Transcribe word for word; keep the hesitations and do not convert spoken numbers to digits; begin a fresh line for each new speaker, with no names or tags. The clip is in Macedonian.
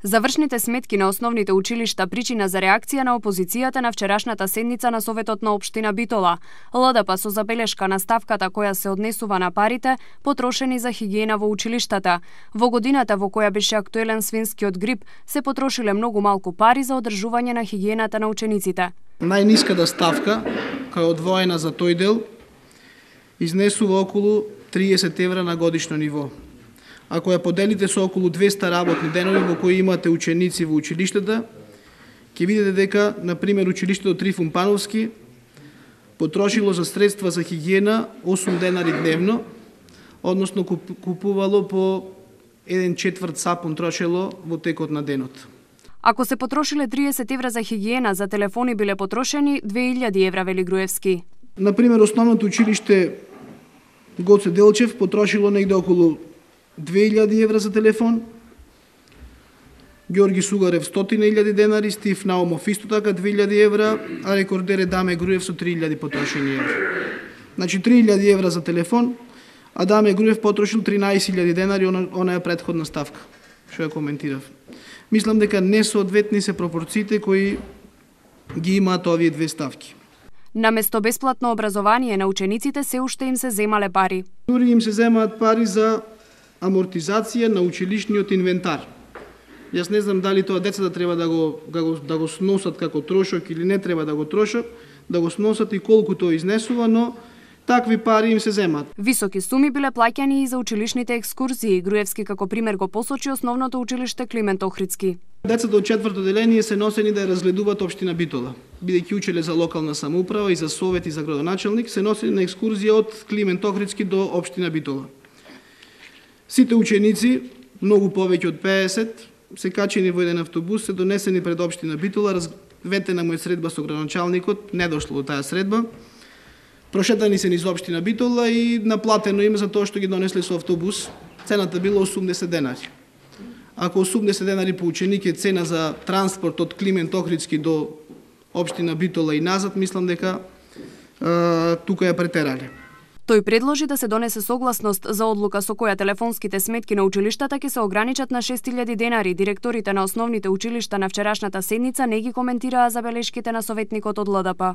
Завршните сметки на основните училишта причина за реакција на опозицијата на вчерашната седница на Советот на општина Битола. ЛДП со забелешка на ставката која се однесува на парите потрошени за хигиена во училиштата. Во годината во која беше актуелен свинскиот грип, се потрошиле многу малку пари за одржување на хигиената на учениците.
Најниската ставка, која е одвоена за тој дел, изнесува околу триесет евра на годишно ниво. Ако ја поделите со околу двеста работни денови во кои имате ученици во училиштата, ќе видите дека, на пример, училиштето Трифун Пановски потрошило за средства за хигиена осум денари дневно, односно купувало по еден четврт сапун трошело во текот на денот.
Ако се потрошиле триесет евра за хигиена, за телефони биле потрошени две илјади евра, вели Груевски.
На пример, основното училиште Гоце Делчев потрошило негде околу две илјади евра за телефон, Георги Сугарев стотина илјади денари, Стив Наумов исто така две илјади евра, а рекордер е Даме Груев со три илјади потрошени евра. Значи три илјади евра за телефон, а Даме Груев потрошил тринаесет илјади денари, она, она е претходна ставка, што ја коментирав. Мислам дека несоодветни се пропорциите кои ги имаат овие две ставки.
Наместо бесплатно образование на учениците се уште им се земале пари.
Дури им се земаат пари за амортизација на училишниот инвентар. Јас не знам дали тоа децата треба да го, да го, да го сносат како трошок или не треба да го трошат, да го сносат и колку тоа изнесува, но такви пари им се земаат.
Високи суми биле плаќани и за училишните екскурзии. Груевски како пример го посочи основното училиште Климент Охридски.
Децата од четврто деление се носени да ја разгледуваат општина Битола. Бидејќи учеле за локална самоуправа и за совет и за градоначалник, се носени на екскурзија од Климент Охридски до општина Битола. Сите ученици, многу повеќе од пеесет, се качени во еден автобус, се донесени пред општина Битола, разветена му е средба со градоначалникот, не дошло до таа средба. Прошетани се низ општина Битола и наплатено им за тоа што ги донесле со автобус. Цената била осумдесет денари. Ако осумдесет денари по ученик е цена за транспорт од Климент Охридски до општина Битола и назад, мислам дека е, тука ја претерале.
Тој предложи да се донесе согласност за одлука со која телефонските сметки на училиштата ќе се ограничат на шест илјади денари. Директорите на основните училишта на вчерашната седница не ги коментираа забелешките на советникот од ЛДП.